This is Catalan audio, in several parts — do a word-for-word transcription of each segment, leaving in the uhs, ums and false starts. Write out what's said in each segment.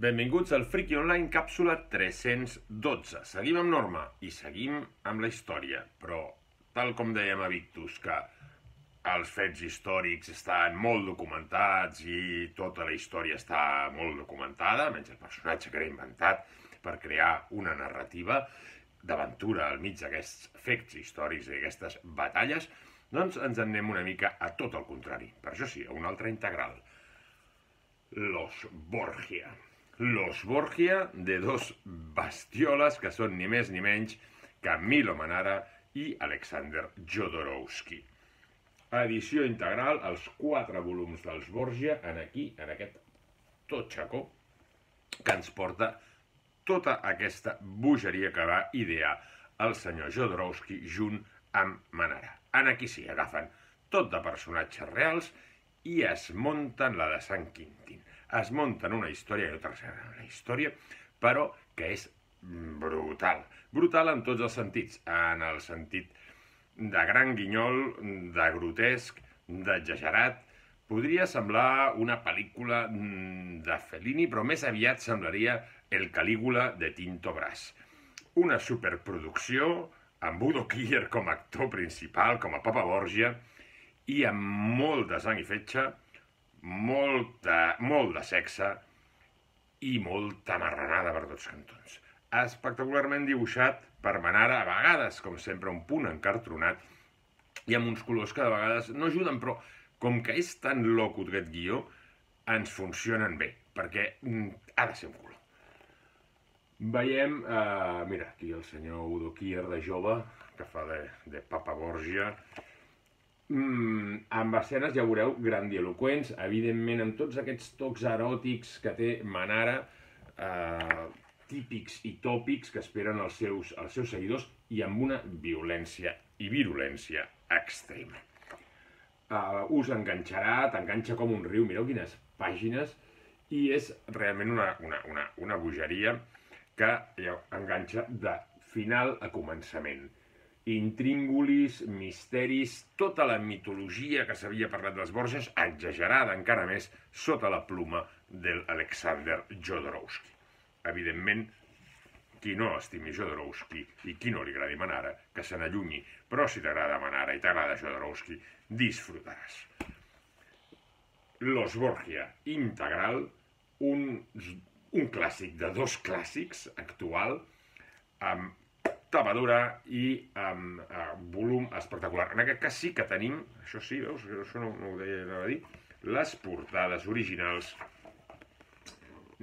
Benvinguts al Friki Online càpsula tres-cents dotze. Seguim amb Norma i seguim amb la història, però tal com dèiem a Victus, que els fets històrics estan molt documentats i tota la història està molt documentada, menys el personatge que era inventat per crear una narrativa d'aventura al mig d'aquests fets històrics i aquestes batalles, doncs ens en anem una mica a tot el contrari. Per això sí, a una altra integral. Los Borgia. Los Borgia, de dos bestioles que són ni més ni menys que Milo Manara i Alexander Jodorowsky. Edició integral, els quatre volums dels Borgia, en aquí, en aquest totxacó, que ens porta tota aquesta bogeria que va idear el senyor Jodorowsky junt amb Manara. En aquí sí, agafen tot de personatges reals i es munten la de Sant Quintín. Es munten una història, i no una història, però que és brutal. Brutal en tots els sentits. En el sentit de gran guinyol, de grotesc, d'exagerat. Podria semblar una pel·lícula de Fellini, però més aviat semblaria El Calígula de Tinto Brass. Una superproducció amb Udo Kier com a actor principal, com a Papa Borgia, i amb molt de sang i fetge, molt de, molt de sexe i molta marranada per tots cantons. Espectacularment dibuixat per Manara, a vegades, com sempre, un punt encartronat, i amb uns colors que de vegades no ajuden, però com que és tan loco aquest guió, ens funcionen bé, perquè ha de ser un color. Veiem, eh, mira, aquí el senyor Udo Kier de jove, que fa de, de Papa Borgia, mm, amb escenes, ja veureu, grandiloquents, evidentment amb tots aquests tocs eròtics que té Manara, eh, típics i tòpics que esperen els seus, els seus seguidors, i amb una violència i virulència extrema. Uh, us enganxarà, t'enganxa com un riu, mireu quines pàgines, i és realment una, una, una, una bogeria que ja, enganxa de final a començament. Intríngulis, misteris, tota la mitologia que s'havia parlat dels Borges, exagerada encara més sota la pluma de l'Alexander Jodorowsky. Evidentment, qui no estimi Jodorowsky i qui no li agradi Manara, que se n'allunyi, però si t'agrada Manara i t'agrada Jodorowsky, disfrutaràs. Los Borgia integral, un, un clàssic de dos clàssics actual, amb tapadura i amb uh, volum espectacular. En aquest cas sí que tenim, això sí, veus, això no, no ho deia a dir, les portades originals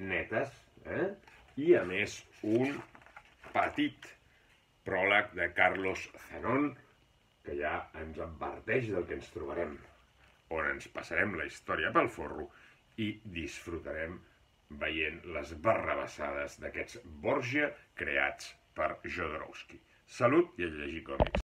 netes, eh? I a més un petit pròleg de Carlos Zenon, que ja ens adverteix del que ens trobarem, on ens passarem la història pel forro i disfrutarem veient les barrabassades d'aquests Borgia creats per Jodorowsky. Salut i a llegir còmics.